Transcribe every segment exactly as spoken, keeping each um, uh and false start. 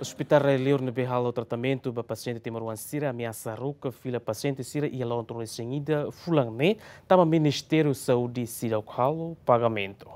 Hospital Rai Liur ne'ebé halo tratamentu ba pasiente timoroan sira ameasa haruka fila pasiente sira iha loron tolunulu-resin-ida fulan ne'e, tanba Ministériu Saúde seidauk halo pagamentu.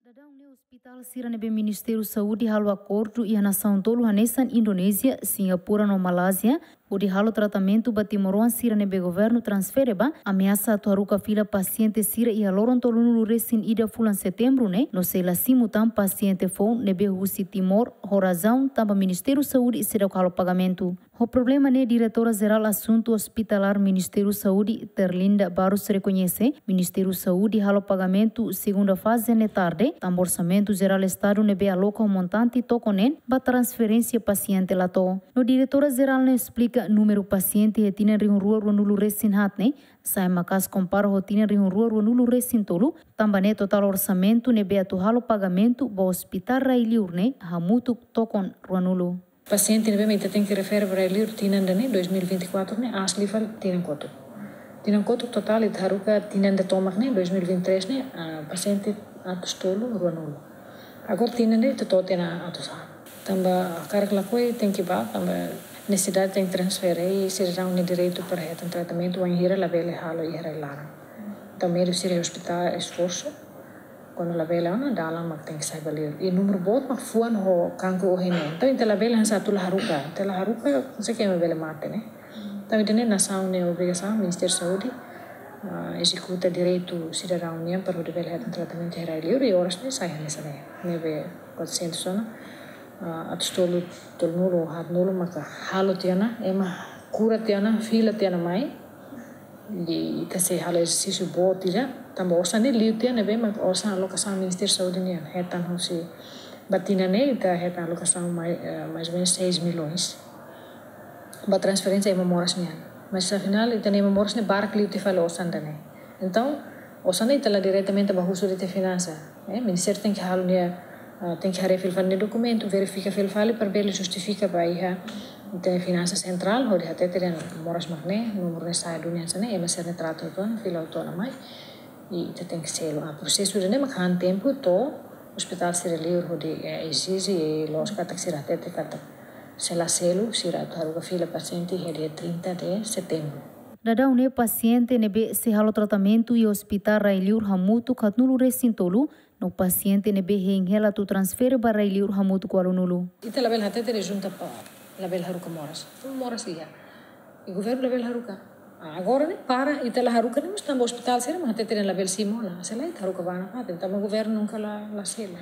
Daudaun ne'e hospital sira ne'ebé Ministériu Saúde halo akordu iha nasaun tolu hanesan Indonézia, Singapura no Malázia, hodi halo tratamentu ba timoroan sira ne'ebé governu transfere ba, ameasa atu haruka fila pasiente sira iha loron tolunulu-resin-ida fulan Setembru ne'e, no sei la simu tan pasiente foun ne'ebé husi Timor, ho razaun tanba Ministériu Saúde seidauk halo pagamentu. Ho problema ne'e, Diretora Jerál Asuntu Ospitalár Ministériu Saúde, Terlinda Barros, rekoñese Ministériu Saúde halo pagamentu segunda faze ne'e tarde, tanba Orsamentu Jerál Estadu ne'ebé aloka ho montante tokon neen ba transferénsia pasiente la to'o. No Diretora Jerál ne'e esplika númeru pasiente iha tinan rihun rua ruanulu-resin-haat ne'e sai maka'as kompara ho tinan rihun rua ruanulu-resin-tolu, tanba ne'e totál orsamentu ne'ebé atu halo pagamentu ba Hospital Rai Liur ne'e hamutuk tokon ruanulu. Pasiente ne'ebé mak ita tenke refere ba Rai Liur tinan ida-ne'e, dois mil e vinte e quatro ne'e, aas liu fali tinan kotuk. Tinan kotuk totál ita haruka tinan ida tomak ne'e, dois mil e vinte e três ne'e, ah, pasiente atus tolu ruanulu. Agora tinan ida ita to'o tiha ona atus haat. Tanba hakarak lakohi tenke ba, tanba nesesidade tenke transfere, i sidadaun nia direitu para hetan tratamentu, wainhira labele halo iha rai laran. Entaun médiku sira hospital esforsu, kuandu labele ona, dalan mak tenke sai ba liur. I númeru boot mak fuan ho kankru ohin ne'e. Entaun ita labele hanesan atu la haruka. Ita la haruka, sei ke ema bele mate, ne'e. Entaun ida-ne'e nasaun nia obrigasaun, Ministériu Saúde, ah, ezekuta direitu sidadaun nian para hodi bele hetan tratamentu iha rai liur, i oras ne'e sai hanesan ne'e. Ne'ebé quatrocentos ona, ah, atus tolu, tolunulu, haatnulu maka halo tiha ona, ema kura tiha ona, fila tiha ona mai. I ita sei halo ezersísiu boot ida, tanba osan ne'e liu tiha ona, ne'ebé mak osan alokasaun Ministériu Saúde nian, hetan husi ba tinan ne'e, ita hetan alokasaun mai, eh, mais ou menos seis milhões. Ba transferénsia ema moras nian. Mas afinál, ita-nia ema moras ne'e barak liu tiha fali osan ida-ne'e. Entaun, osan ne'e ita la diretamente ba husu de'it iha finansa. Eh, Ministériu tenke halo nia, ah, tenke haree fila fali nia dokumentu, verifika fila fali para bele justifika ba iha ita-nia finansa sentrál, hodi hatete dehan moras mak ne'e, númeru ne'e sai duni hanesan ne'e, ema sira-ne'e trata hotu ona, fila hotu ona mai. I ita tenke selu. Ah, prosesu ida-ne'e mak han tempu to'o ospitál sira liur hodi, eh, ezije, i loos katak sira hatete katak se la selu, sira atu haruka fila pasiente iha dia trinta de setembro. Daudaun ne'e pasiente ne'ebé sei halo tratamentu iha Hospital Rai Liur hamutuk haatnulu-resin-tolu, no pasiente ne'ebé hein hela atu transfere ba Rai Liur hamutuk ualunulu. Ita labele hatete dehan junta para labele haruka moras. Moras iha. I governu labele haruka. Ah, agora ne'e para, ita la haruka ne'e, mas tanba ospitál sira mak hatete dehan labele simu ona. Se lae ita haruka ba nafatin, tanba governu nunka la, la selu.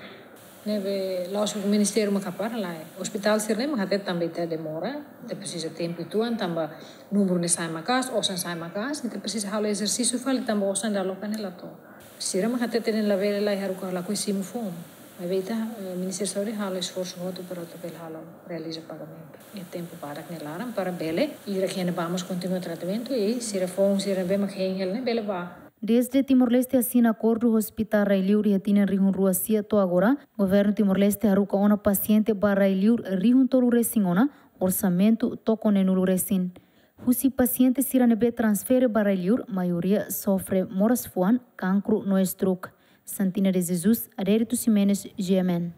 Ne'ebé la'ós ministériu mak hapara, lae. Ospitál sira-ne'e mak hatete tanba ita demora, ita presiza tempu uitoan, tanba númeru ne'e sai maka'as, osan sai maka'as, ita presiza halo ezersísiu fali tanba osan ida aloka ne'e la to'o. Sira mak hatete dehan labele, lae, haruka, lakohi simu foun. Maibé ita, eh, Ministériu Saúde halo esforsu hotu para atu bele halo, realiza pagamentu iha tempu badak nia laran para bele, ira ke ema ba mós kontinua tratamentu, i sira foun, sira ne'ebé mak hein hela ne'e bele ba. Desde Timor-Leste asina akordu Hospital Rai Liur iha tinan rihun rua sia to'o agora, governu Timor-Leste haruka ona pasiente ba Rai Liur rihun tolu-resin ona, orsamentu tokon neenulu-resin. Husi pasiente sira ne'ebé transfere ba Rai Liur, maioria sofre moras fuan, kankru no stroke. Santina de Jesus, Adérito Ximenes, G M N.